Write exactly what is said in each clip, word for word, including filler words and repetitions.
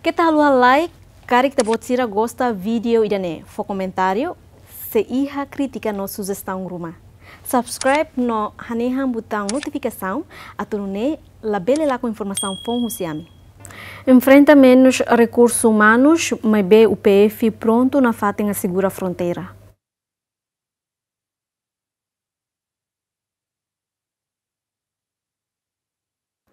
Keta haluha like, karik ita-boot sira gosta vídeo ida-ne'e, fó komentáriu, se iha krítika no sujestaun ruma. Subscribe no hanehan butaun notifikasaun, atu nune'e labele lakon informasaun foun husi ami. Enfrenta menus rekursus umanus, maibé U P F prontu nafatin asegura fronteira.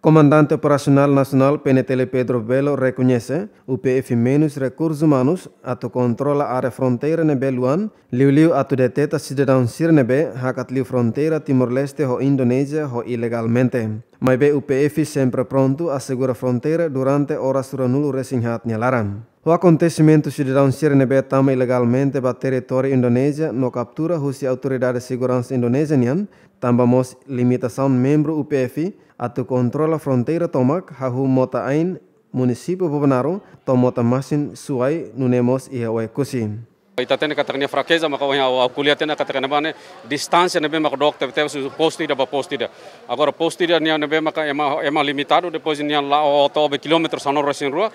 Komandante Operasionál Nasionál, P N T L, Pedro Belo rekoñese, U P F menus rekursus umanus atu kontrola área fronteira ne'ebé luan, liuliu atu deteta sidadaun sira ne'ebé hakat liu fronteira Timor-Leste ho Indonézia ho ilegalmente. Maibé U P F sempre prontu asegura fronteira durante oras ruanulu-resin-haat nia laran. Ho akontesimentu, sidadaun sira ne'ebé tama ilegalmente ba territóriu Indonézia no kaptura husi autoridade seguransa Indonézia nian, tanba mós limitasaun membru U P F atu kontrola fronteira tomak, hahú Mota-Ain, munisípiu Bobonaro, to'o Mota-Masin, Suai, nune'e mós iha Oekusi. Ita hatene katak nia frakeza, maka ohin ha'u, ha'u ko'alia hatene katak ne'ebá ne'e distánsia ne'ebé maka dook tebetebes husi postu ida ba postu ida. Agora postu ida nian ne'ebé maka ema, ema limitadu, depois nian la'o to'o be kilómetru sanulu-resin-rua,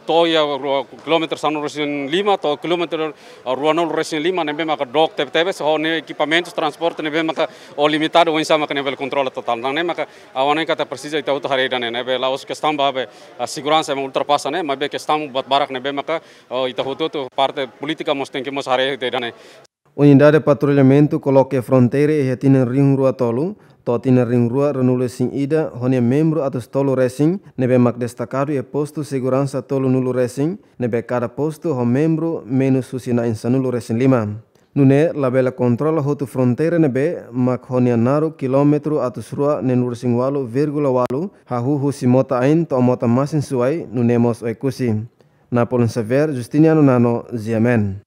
to'o iha rua, kilómetru sanulu-resin-lima, to'o kilómetru, ah, ruanulu-resin-lima, ne'ebé maka dook tebetebes, ho nia ekipamentus transporte ne'ebé maka o limitadu, oinsá maka nia bele kontrola totál. Tan ne'e maka ha'u hanoin katak presiza ita hotu haree ida-ne'e, ne'ebé la'ós kestaun ba be, ah, seguransa ema ultrapasa ne'e, maibé kestaun buat barak ne'ebé maka, oh, ita hotu-hotu parte polítika mós tenke mós haree ida-ne'e. Unidade patrullamentu koloka fronteira iha tinan rihun rua tolu to'o tinan rihun rua ruanulu-resin-ida ho nia membru atus tolu-resin, ne'ebé mak destakadu iha postu seguransa tolunulu-resin, ne'ebé kada postu ho membru menus husi na'in sanulu-resin-lima. Nune'e labele kontrola hotu fronteira ne'ebé mak ho nia naruk kilómetru atus rua neenulu-resin-ualu vírgula ualu, hahú husi Mota-Ain to'o Mota-Masin, Suai, nune'e mós Oekusi. Napoleon Xavier, Justiniano Nano, G M N.